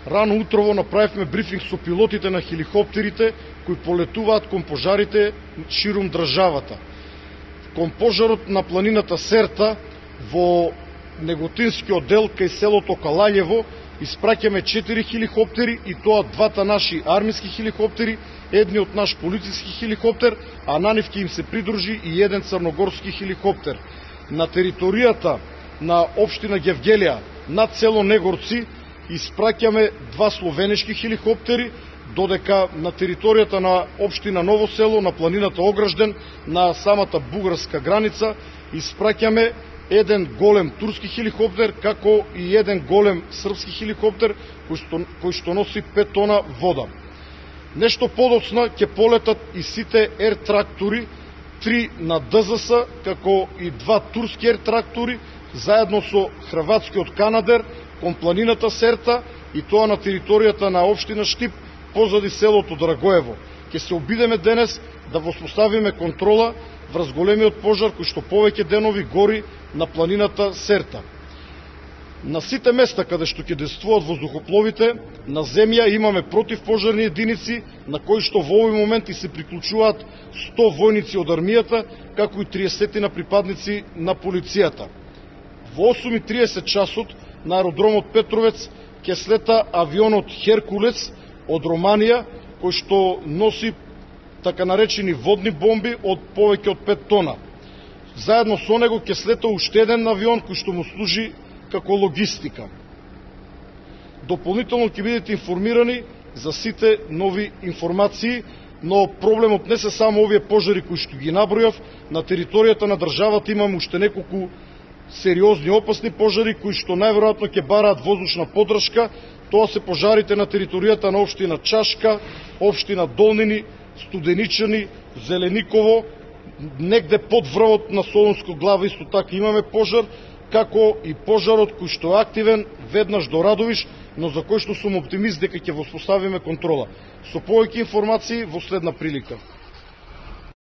Рано утрово направивме брифинг со пилотите на хеликоптерите кои полетуваат кон пожарите ширум државата. Кон пожарот на планината Серта во Неготинскиот дел кај селото Калањево испраќаме 4 хеликоптери, и тоа двата наши армиски хеликоптери, едниот наш полициски хеликоптер, а на нив ќе им се придружи и еден црногорски хеликоптер. На територијата на општина Гевгелија над село Негорци испраќаме 2 словенешки хеликоптери, додека на територијата на општина Ново село, на планината Огражден, на самата бугарска граница, испраќаме еден голем турски хеликоптер, како и еден голем српски хеликоптер кој што носи 5 тона вода. Нешто подоцна ќе полетат и сите ер-трактори, 3 на ДЗС, како и 2 турски ер-трактори, заедно со хрватскиот Канадер, кон планината Серта, и тоа на територијата на општина Штип, позади селото Драгоево. Ќе се обидеме денес да воспоставиме контрола врз големиот пожар кој што повеќе денови гори на планината Серта. На сите места каде што ќе действуваат воздухопловите, на земја имаме противпожарни единици, на кои што во овој момент и се приклучуваат 100 војници од армијата, како и 30 на припадници на полицијата. Во 8:30 часот на аеродромот Петровец ќе слета авионот Херкулес од Романија, кој што носи така наречени водни бомби од повеќе од 5 тона. Заедно со него ќе слета уште еден авион кој што му служи како логистика. Дополнително ќе бидете информирани за сите нови информации, но проблемот не се само овие пожари кои што ги набројав. На територијата на државата имаме уште неколку сериозни опасни пожари кои што најверојатно ќе бараат воздушна поддршка. Тоа се пожарите на територијата на општина Чашка, општина Долнини, Студеничани, Зелениково, негде под врвот на Солунско глава исто така имаме пожар, како и пожарот кој што е активен веднаш до Радовиш, но за кој што сум оптимист дека ќе воспоставиме контрола. Со повеќе информации во следна прилика.